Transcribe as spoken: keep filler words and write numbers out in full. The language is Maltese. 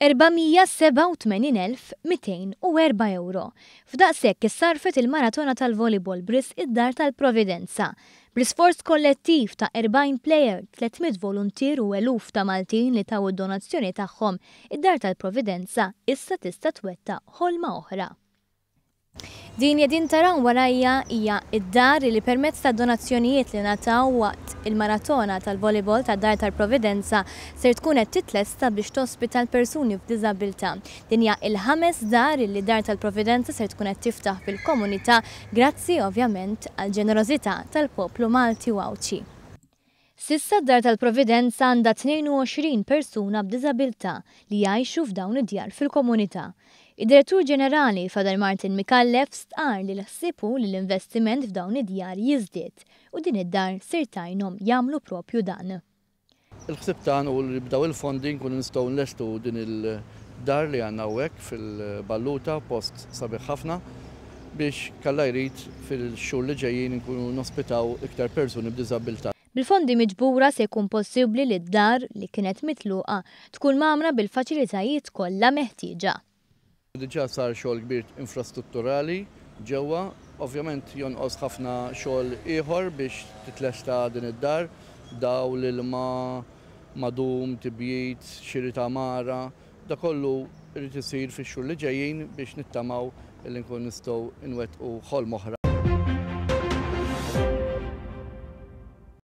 erba' mija sebgħa u tmenin elf mitejn u erba' euro. F'daqshekk issarfet il-maratona tal-volleyball b'risq id-Dar tal-Providenza. Bl-isforz kollettiv ta' erbgħin player, tliet mitt voluntier u eluf ta' Maltin li taw id-donazzjoni tagħhom, id-Dar tal-Providenza issa tista' twettaq ħolma oħra. Din jedin taraw warajja hija id-dar li permezz ta' donazzjonijiet li ngħataw waqt il-maratona tal-volleyball tad-Dar tal-Providenza ser tkun qed titlesta biex tospita l-persuni f'diżabilità. Din hija il-ħames dar li Dar tal-Providenza ser tkun qed tiftaħ fil-komunità grazzi ovvjament għall-ġenerożità tal-poplu Malti u Għawdxi. S'issa d-Dar tal-Providenza għandha tnejn u għoxrin persuna b'diżabilità li jgħixu f'dawn id-djar fil-komunità. Id-Direttur Ġenerali Father Martin Micallef stqarr li l-ħsieb hu li l-investiment f'dawn id-djar jiżdied u din id-dar ser tgħinhom jagħmlu propju dan. Il-ħsieb tagħna hu li b'daw il-fondi nkunu nistgħu nlestu din il-dar li għandna hawnhekk fil-Balluta, post sabiħ ħafna, biex kalla jrid fil-xhur li ġejjin nkunu nospitaw iktar persuni b'diżabilità. Bil-fondi miġbura se jkun possibbli li d-dar li kienet mitluqa tkun mgħammra bil-faċilitajiet kollha meħtieġa. Diġà sar xogħol kbir infrastrutturali ġewwa, ovvjament jonqos ħafna xogħol ieħor biex titlesta din id-dar, dawl, ilma, madum, tibjid, xiri ta' għamara, da kollu irid isir fix-xhur li ġejjin biex nittamaw li nkun nistgħu nwettqu ħolm oħra.